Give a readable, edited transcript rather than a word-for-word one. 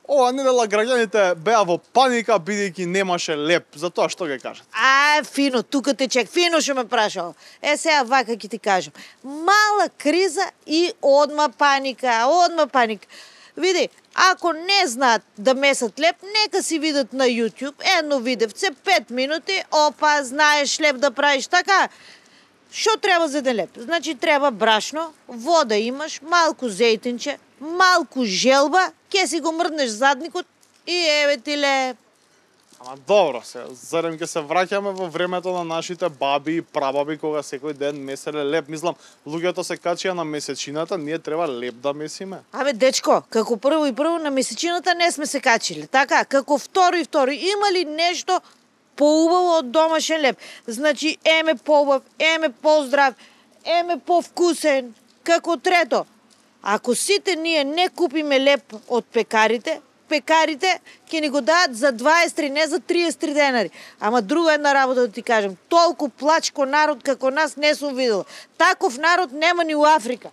Ова недела граѓаните беа во паника бидејќи немаше леп. За тоа што ги кажат? Фино, тука те чек, фино што ме прашал. Сега вака ќе ти кажам. Мала криза и одма паника. Види, ако не знаат да месат леп, нека си видат на YouTube едно видевце, 5 минути, опа, знаеш леп да правиш така. Што треба за еден леп? Значи треба брашно, вода имаш, малку зејтинче, малку желба, ќе си го мрднеш задникот и еве ти леп. Ама добро се, зарем ќе се враќаме во времето на нашите баби и прабаби кога секој ден меселе леп. Мислам, луѓето се качија на месечината, ние треба леп да месиме. Дечко, како прво на месечината не сме се качиле, така? Како второ, има ли нешто поубаво од домашен леп? Значи, еме поубав, еме поздрав, еме повкусен. Како трето, ако сите ние не купиме леп од пекарите ќе ни го дадат за 23, не за 33 денари. Ама друга една работа да ти кажам, толку плачко народ како нас не сум видела. Таков народ нема ни у Африка.